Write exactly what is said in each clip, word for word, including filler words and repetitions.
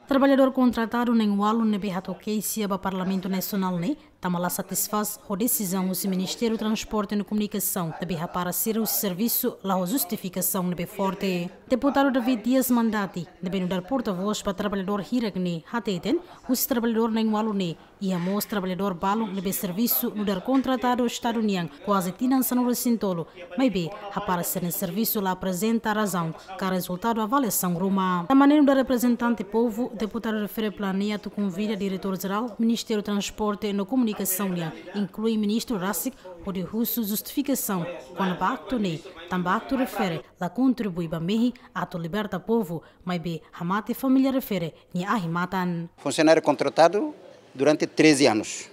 Traballadór kontratadu na'in-ualu ne'ebé hato'o keixa ba Parlamentu Nasionál ne'e tama la satisfás ho desizaun husi Ministériu Transporte no Komunikasaun ne'ebé hapara sira husi servisu la ho justifikasaun ne'ebé forte. Deputadu David Dias Mandati, ne'ebé nu'udar portavós ba traballadór hirak ne'e, hateten husi traballadór na'in-ualu ne'e iha mós traballadór balun ne'ebé servisu nu'udar kontratadu Estadu nian kuaze tinan sanulu-resin-tolu, maibé hapara sira-nia servisu la aprezenta razaun ka rezultadu avaliasaun ruma. Tama ne'e nu'udar reprezentante povu, deputadu refere planeia atu konvida Diretór Jerál Ministériu Transporte no Komunikasaun nian, inklui ministru rasik, hodi husu justifikasaun kona-ba aktu ne'e, tanba aktu refere la kontribui ba mehi atu liberta povu, maibé hamate família refere nia ahi-matan. Funsionáriu kontratadu durante treze anos.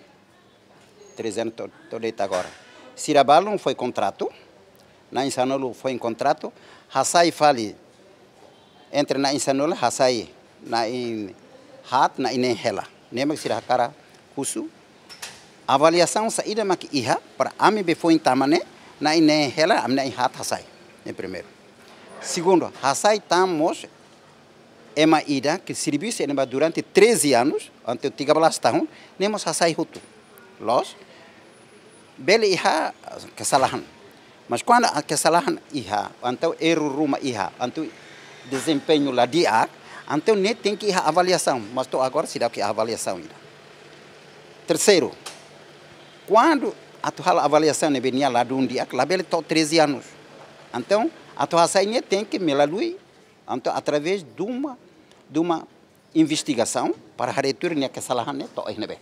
Treze anos to-, to'o de'it agora. Sira balun foin kontratu, na'in-sanulu foin kontratu, hasai fali entre na'in-sanulu, hasai na'in-haat, na'in-neen hela. Ne'e mak sira hakarak husu avaliasaun saida mak iha para ami be foin tama ne'e, na'in-neen hela, ami na'in-haat hasai. Ne'e primeiru. Segundu, hasai tan mós ema ida ke servisu iha ne'ebá durante treze anos, entaun tiga belas tahun, ne'e mós hasai hotu. Loos, bele iha kesalahan. Mas kuandu a kesalahan iha, entaun erru ruma iha, entaun dezempeñu la di'ak, entaun ne'e tenke iha avaliasaun, mas to'o agora seidauk iha avaliasaun ida. Terseiru, kuandu atu halo avaliasaun ne'ebé nia ladún di'ak, labele to'o treze anos. Entaun, atu hasai ne'e tenke melalui, entaun, através de uma, de uma investigasaun para haree tuir nia kesalahan ne'e to'o iha ne'ebé.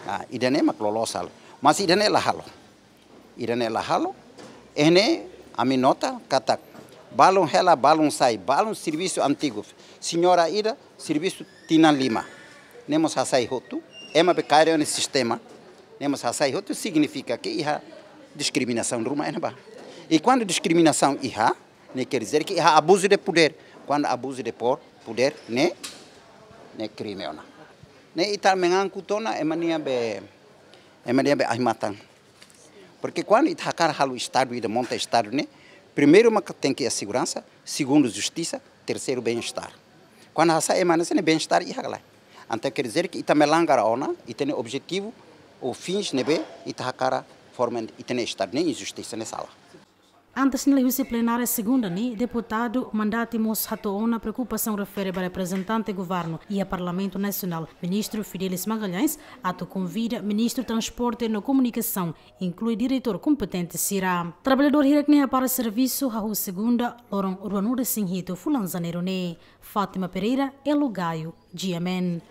Ah, ida-ne'e mak loloos halo. Mas ida-ne'e la halo. Ida-ne'e la halo. Iha ne'e ami nota katak balun hela, balun sai, balun servisu antigu. Señora ida servisu tinan lima. Ne'e mós hasai hotu. Ema be kaer iha sistema. Ne'e mós hasai hotu signifika ke iha diskriminasaun ruma iha ne'ebá. I kuandu diskriminasaun iha, ne'e quer dizer ke iha abuzu de podér. Kuandu abuzu de po-, podér, ne'e, ne'e krime ona. Ne'e ita mengaku tiha ona ema nia be, ema nia be ahi-matan. Porke kuandu ita hakarak halo Estadu, ita monta Estadu ne'e, primeiru mak tenke iha seguransa, segundu justisa, terseiru bem-estar. Kuandu hasai ema hanesan ne'e, bem-estar iha ka lae. Entaun quer dizer ke ita melanggar ona ita-nia objetivu ou fins ne'ebé ita hakarak forma ita-nia Estadu, ne'e injustisa, ne'e sala. Antes ne'e husi plenária segunda ne'e, deputadu Mandati mós hato'o ona preokupasaun refere ba reprezentante governu iha Parlamentu Nasionál, Ministru Fidelis Magalhães, atu konvida Ministru Transporte no Komunikasaun, inklui diretór kompetente sira. Traballadór hirak ne'e hapara servisu hahú segunda, loron ruanulu-resin-hitu fulan Janeiru ne'e. Fátima Pereira, Elo Gaio, G M N.